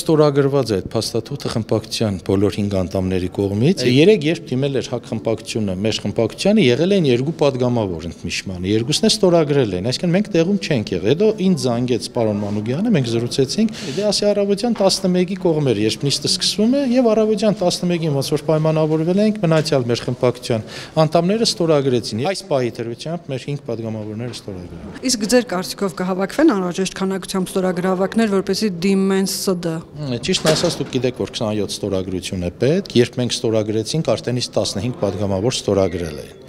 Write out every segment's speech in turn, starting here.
ստորագրված է այդ փաստաթուղթը խմբակցության բոլոր 5 անդամների կողմից։ Երեք երբ դիմել էր ՀԱԿ խմբակցությունը մեր խմբակցությանը, եղել են 2 падգամավոր ընդմիջմանը, երկուսն է ստորագրել են, այսինքն մենք տեղում չենք եղել։ Հետո ինձ զանգեց պարոն Մանուկյանը, մենք զրուցեցինք, դե ասի առավոտյան 11-ի կողմեր, երբ նիստը սկսվում է, եւ առավոտյան 11-ին ոնց որ պայմանավորվել ենք, մնացյալ մեր խմբակցության անդամները ստորագրեցին։ Այս պահի դրությամբ մեր 5 падգամավորները ստորագրել են։ Իսկ ձեր կարծիքով կհավաքվեն անհրաժեշտ քանակությամբ ստորագրավակներ, որպեսզի դիմեն ՍԴ։ Ճիշտն ասած, դուք գիտեք, որ 27 ստորագրություն է պետք, երբ մենք ստորագրեցինք, արդեն իսկ 15 падգամավոր ստորագրել էին։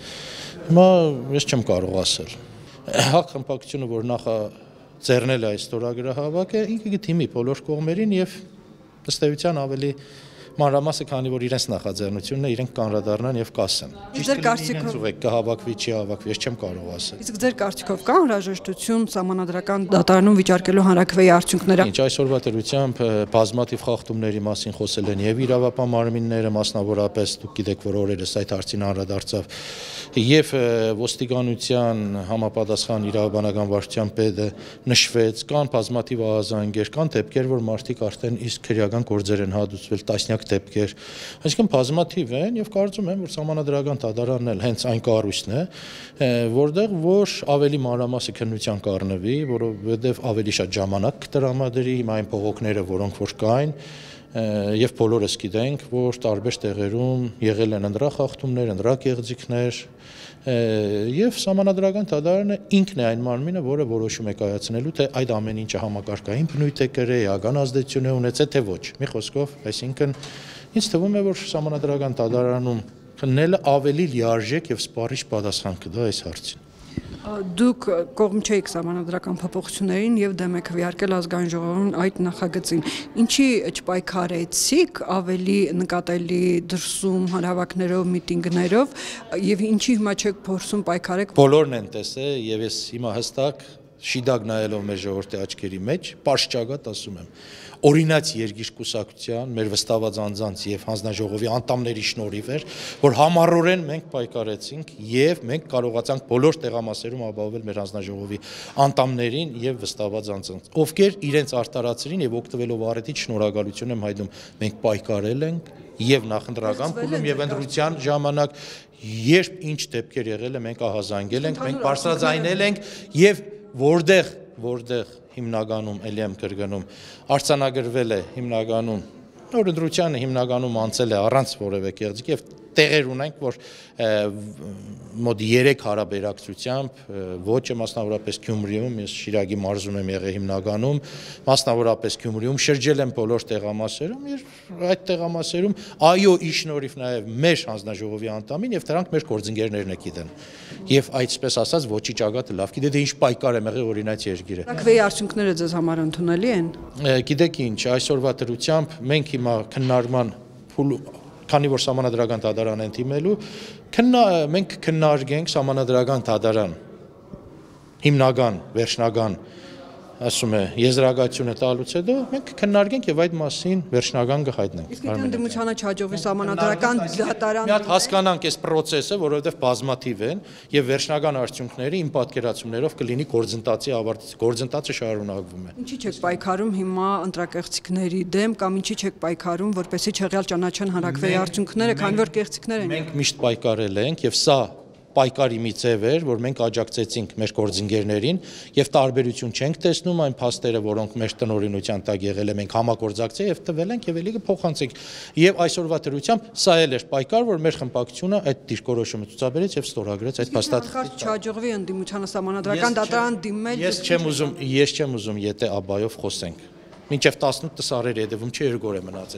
Հիմա ես չեմ կարող ասել։ ՀԱԿ խմբակցությունը, որ նախաձեռնել է այս ստորագրահավաքը, ինքը կդիմի բոլոր կողմերին եւ ըստ էության ավելի մանրամասը, քանի որ իրենց նախաձեռնությունն է, իրենք կանրադառնան եւ կասեն։ Ձեր կարծիքով կհավաքվի, չի հավաքվի, ես չեմ կարող ասել։ Իսկ ձեր կարծիքով կա անհրաժեշտություն սահմանադրական դատարանում վիճարկելու հանրաքվեի արդյունքները։ Ինչ այսօրվա դրությամբ բազմաթիվ խախտումների մասին խոսել են եւ իրավապահ մարմինները, մասնավորապես դուք գիտեք, որ օրերս այդ հարցին անդրադարձավ եւ ոստիկանության համապատասխան իրավաբանական վարչության պետը նշվեց, կան բազմաթիվ ահազանգեր, կան դեպքեր, որ մարդիկ արդեն իսկ քրեական գործեր են հադուցվել, տասնյակ դեպքեր, այսինքն բազմաթիվ են եւ կարծում եմ, որ սահմանադրական դատարանն էլ հենց այն կառույցն է, որտեղ որ ավելի մանրամասը քննության կառնվի, որովհետեւ ավելի շատ ժամանակ կտրամադրի հիմա այն փողոքները, որոնք որ կային եւ բոլորս գիտենք, որ տարբեր տեղերում եղել են ընդրախախտումներ, ընդրակեղծիքներ եւ սահմանադրական դատարանը ինքն է այն մարմինը, որը որոշում է կայացնելու, թե այդ ամեն ինչը համակարգային բնույթ է կրել, էական ազդեցություն է ունեցել, թե ոչ։ Մի խոսքով, այսինքն ինձ թվում է, որ սահմանադրական դատարանում քննելը ավելի լիարժեք եւ սպառիչ պատասխան կտա այս հարցին։ Դուք կողմ չէիք սահմանադրական փոփոխություններին եւ դեմ եք քվեարկել ազգային ժողովում այդ նախագծին։ Ինչի չպայքարեցիք ավելի նկատելի դրսում հանրահավաքներով, միտինգներով եւ ինչի հիմա չեք փորձում պայքարեք։ Բոլորն են տեսել եւ ես հիմա հստակ շիդակ նայելով մեր ժողովրդի աչքերի մեջ, պարշճագատ ասում եմ, օրինաց երկիրկուսակցության, մեր վստահված անձանց եւ հանձնաժողովի անդամների շնորհիվ էր, որ համառորեն մենք պայքարեցինք եւ մենք կարողացանք բոլոր տեղամասերում ապահովել մեր հանձնաժողովի անդամներին եւ վստահված անձանց, ովքեր իրենց արտարացրին եւ օգտվելով առիթից շնորհակալություն եմ հայտնում, մենք պայքարել ենք եւ նախընտրական փուլում եւ ընտրության ժամանակ, երբ ինչ դեպքեր եղել է, մենք ահազանգել ենք, մենք բարձրաձայնել ենք եւ որտեղ հիմնականում էլի եմ կրկնում արձանագրվել է հիմնականում օրենսդրությանը հիմնականում անցել է առանց որևէ կեղծիք եւ տեղեր ունենք, որ մոտ 3 հարաբերակցությամբ ոչը մասնավորապես Գյումրիում, ես Շիրակի մարզում եմ եղել հիմնականում, մասնավորապես Գյումրիում շրջել եմ բոլոր տեղամասերում եւ այդ տեղամասերում այո ի շնորհիվ նաեւ մեր հանձնաժողովի անդամին եւ դրանք մեր գործընկերներն է գիտեն։ Եվ այսպես ասած ոչի ճակատը լավ գիտե, դե ինչ պայքար եմ եղել օրինաց երկիրը։ Հանրաքվեի արդյունքները ձեզ համար ընդունելի են։ Գիտեք ինչ, այսօրվա դրությամբ մենք հիմա քննարկման քանի որ սահմանադրական դատարան են դիմելու, մենք քննարկենք սահմանադրական դատարան հիմնական, վերջնական, ասում է, եզրակացությունը տալուց հետո մենք քննարկենք եւ այդ մասին վերջնական կհայտնենք։ Իսկ եթե ընդդիմությանը չհաջողվի սահմանադրական դատարան մի հատ հասկանանք այս process-ը, որովհետեւ բազմաթիվ են եւ վերջնական արդյունքները իմ պատկերացումներով կլինի գործընթացի ավարտից, գործընթացը շարունակվում է։ Ինչի՞ չեք պայքարում հիմա ընտրակեղծիքների դեմ կամ ինչի՞ չեք պայքարում, որպեսզի չեղյալ ճանաչեն հանրաքվեի արդյունքները, քանի որ կեղծիքներ են։ Մենք միշտ պայքարել ենք եւ սա պայքարի մի ձև էր, որ մենք աջակցեցինք մեր գործընկերներին եւ տարբերություն չենք տեսնում այն փաստերը, որոնք մեր տնօրինության տակ եղել է, մենք համագործակցել եւ տվել ենք եւ ելի կփոխանցենք։ Եվ այսօրվա դրությամբ սա էլ էր պայքար, որ մեր խմբակցությունը այդ դիրքորոշումը ցուցաբերեց եւ ստորագրեց այդ փաստաթղթը։ Չհաջողվի ընդդիմությանը սահմանադրական դատարան դիմել։ Ես չեմ ուզում եթե աբայով խոսենք։ Մինչև 18 սարերի հետևում չի 2 օր է մնացել։